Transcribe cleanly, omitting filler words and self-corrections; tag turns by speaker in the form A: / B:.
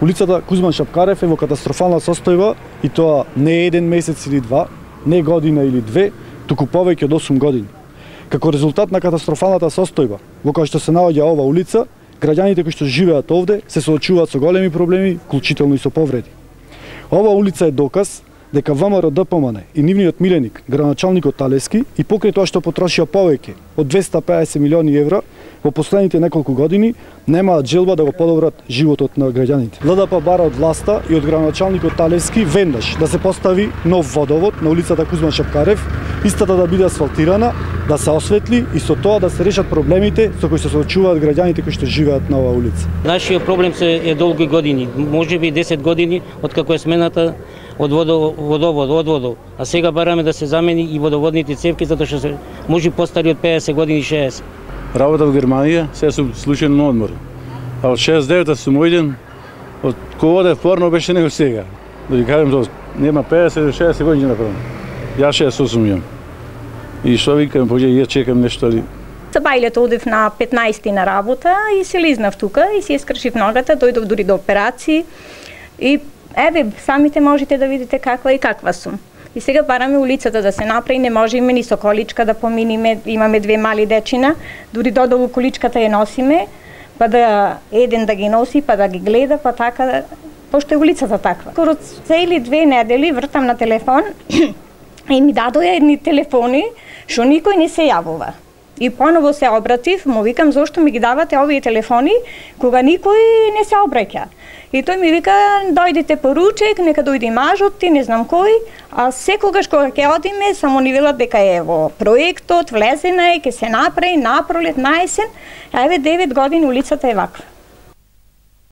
A: Улицата Кузман Шапкарев е во катастрофална состојба и тоа не е 1 месец или 2, не година или 2, туку повеќе од 8 години. Како резултат на катастрофалната состојба во која што се наоѓа ова улица, граѓаните кои што живеат овде се соочуваат со големи проблеми, вклучително и со повреди. Ова улица е доказ дека ВМРО ДПМН и нивниот миленик, градоначалникот Талевски, и покрај тоа што потрошија повеќе од 250 милиони евра во последните неколку години, немаат желба да го подобрат животот на граѓаните. ЛДП бара од власта и од градоначалникот Талевски веднаш да се постави нов водовод на улицата Кузман Шапкарев, истата да биде асфалтирана, да се осветли и со тоа да се решат проблемите со кои се соочуваат граѓаните кои што живеат на оваа улица.
B: Нашиот проблем е долги години, можеби 10 години откако е смената од водовод, а сега бараме да се замени и водоводните цевки затоа што се може постари од 50 години 60.
C: Работа во Германија, сега сум случајно на одмор. А од 69-та сум ојден, од кога одев порно беше него сега. Да ви кажем тоа, нема 50-60 години направо. Јас 68 имам. И што викам, поќе ја чекам нешто али.
D: За бајлето одев на 15 на работа и се лизнав тука и си скршив ногата, дојдов дури до операции и еве, самите можете да видите каква и каква сум. И сега бараме улицата да се направи, не можеме ни со количка да поминиме, имаме 2 мали дечина, дури додолу количката ја носиме, па да еден да ги носи, па да ги гледа, па така, пошто е улицата таква. Скоро цели 2 недели вртам на телефон и ми дадоја едни телефони што никој не се јавува. И поново се обратив, му викам зошто ми ги давате овие телефони кога никој не се обраќа. И тој ми вика дојдете по ручек, нека дојде мажот ти, не знам кој, а секогаш кога ќе одиме само ни велат дека е во проектот, влезена е, ќе се направи напролет, на есен, а еве 9 години улицата е ваква.